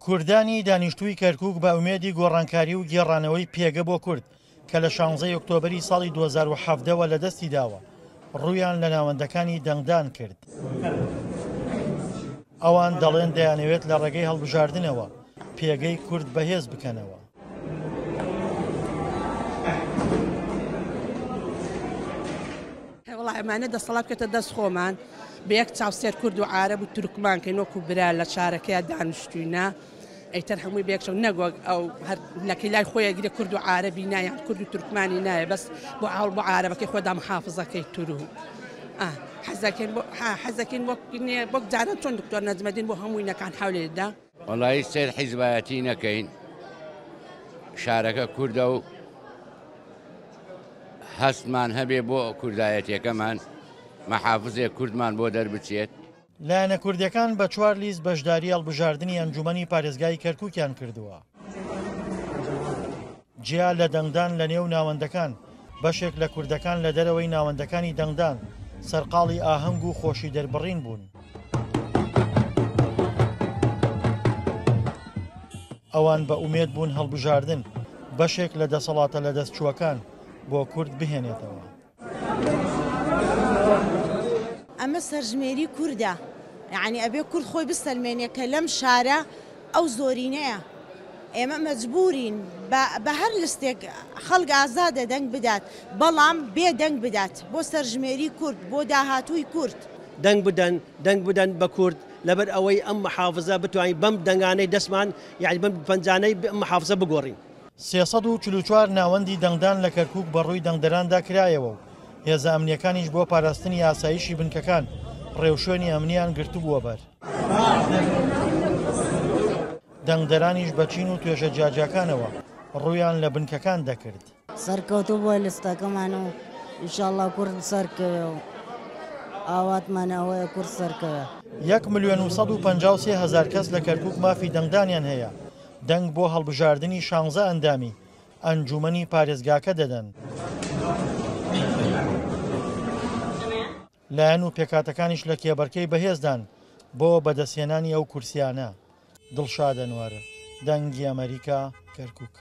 کوردانی دانیشتووی کەرکووک بە ئومێدی گۆڕانکاری و گێڕانەوەی پێگە بۆ کورد کە لە شانزەی ئۆکتۆبەری ساڵی 2017 وە لەدەستی داوە، ڕوویان لە ناوەندەکانی دەنگدان کرد. ئەوان دەڵێن دەیانەوێت لە ڕێگەی هەڵبژاردنەوە پێگەی کورد بەهێز بکەنەوە. وەڵا ئەمانە دەسەڵات بکەتە دەست خۆمان بە یەک چاو سێر کورد و عارەب و تورکمان کەین وەکو برا لە شارەکەیا دانیشتوینە ئیتر هەمووی بە یەک چاو نەک وەک ئەو هەر لەکەی لای خۆی ئەگرێ کورد و عارەبی نا یان کورد و تورکمانی نایە بەس بۆ ئاوڵ بۆ عارەبەکەی خۆدا محافزەکەی تورو حەزەکەین بۆ حەزەکەین وەک وەک جاران چۆن دکتۆر نەجمەدین بۆ هەمووی نەکان حەولێدا. وەڵایی سەیر حیزبایەتی نەکەین شارەکە کوردە و هەستمان هەبێ بۆ کوردایەتیەکەمان مەحافزێک کوردمان بۆ دەربچێت. لایەنە کوردیەکان بە چوار لیست بەشداری هەڵبژاردنی ئەنجومەنی پارێزگای کەرکوکیان کردووە. جیا لە دەنگدان لە نێو ناوەندەکان، بەشێک لە کوردەکان لە دەرەوەی ناوەندەکانی دەنگدان سەرقاڵی ئاهەنگ و خۆشی دەربڕین بوون. ئەوان بە ئومێد بوون هەڵبژاردن بەشێک لە دەسەڵاتە لەدەستچووەکان بۆ کورد بهێنێتەوە. ئەمە سەرژمێری کوردە، یەعنی ئەبێ کورد خۆی بسەلمێنێ کە لەم شارە ئەو زۆرینەیە. ئێمە مەجبورین بە هەر لستێک خەڵک ئازادە دەنگ بدات، بەڵام بێ دەنگ بدات بۆ سەرژمێری کورد، بۆ داهاتووی کورد. دەنگ بدەن، دەنگ بدەن بە کورد، لەبەر ئەوەی ئەم محافزە بتوانین بەم دەنگانەی دەستمان، یەعنی بەم پەنجانەی ئەم محافزە بگۆڕین. 344 ناوەندی دەنگدان لە کەرکووک بەڕووی دەنگدەراندا کرایەوە و هێزە ئەمنییەکانیش بۆ پاراستنی ئاسایشی بنکەکان ڕێوشوێنی ئەمنییان گرتبووە بەر. دەنگدەرانیش بە چین و توێژە جیاجیاکانەوە ڕوویان لە بنکەکان دەکرد. سەرکەوتوو بووە لیستەکەمان و ئینشاڵڵا کورد سەرکەوێ و ئاواتمان ئەوەیە کورد سەرکەوێ. 1,153,000 کەس لە کەرکووک مافی دەنگدانیان هەیە، دەنگ بۆ هەڵبژاردنی شانزە ئەندامی ئەنجوومەنی پارێزگاکە دەدەن. لایەن و پێکهاتەکانیش لە کێبەرکێی بەهێزدان بۆ بەدەستهێنانی ئەو کورسیانە. دڵشاد ئەنوەر، دەنگی ئەمەریکا، کەرکوک.